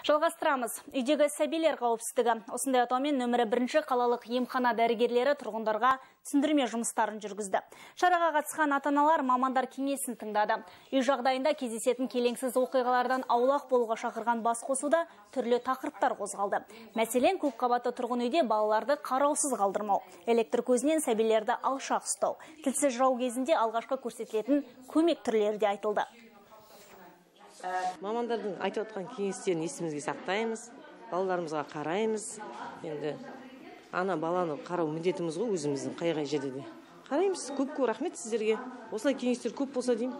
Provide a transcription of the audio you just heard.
Жалғастырамыз. Үйдегі сәбилер қауіпсіздігі. Осындай атаумен нөмірі 1 қалалық емхана дәрігерлері тұрғындарға түсіндірме жұмыстарын жүргізді. Шараға қатысқан ата-аналар мамандар кеңесін тыңдады. Үй жағдайында кездесетін келеңсіз оқиғалардан аулақ болуға шақырған басқосуда түрлі тақырыптар қозғалды. Мәселен, көпқабатты тұрғын үйде балаларды қараусыз қалдырмау, электр көзінен сәбилерді алшақ ұстау, тілсіз жау кезінде алғашқы көрсетілетін көмек түрлері де айтылды. Мамандардың айтып отқан кеңестерін есімізге сақтаймыз, балаларымызға қараймыз. Енді ана баланы қарау міндетіміз ғой, өзіміздің қай жерде де. Қараймыз. Көп рахмет сіздерге. Осылай кеңестер көп болса деймін.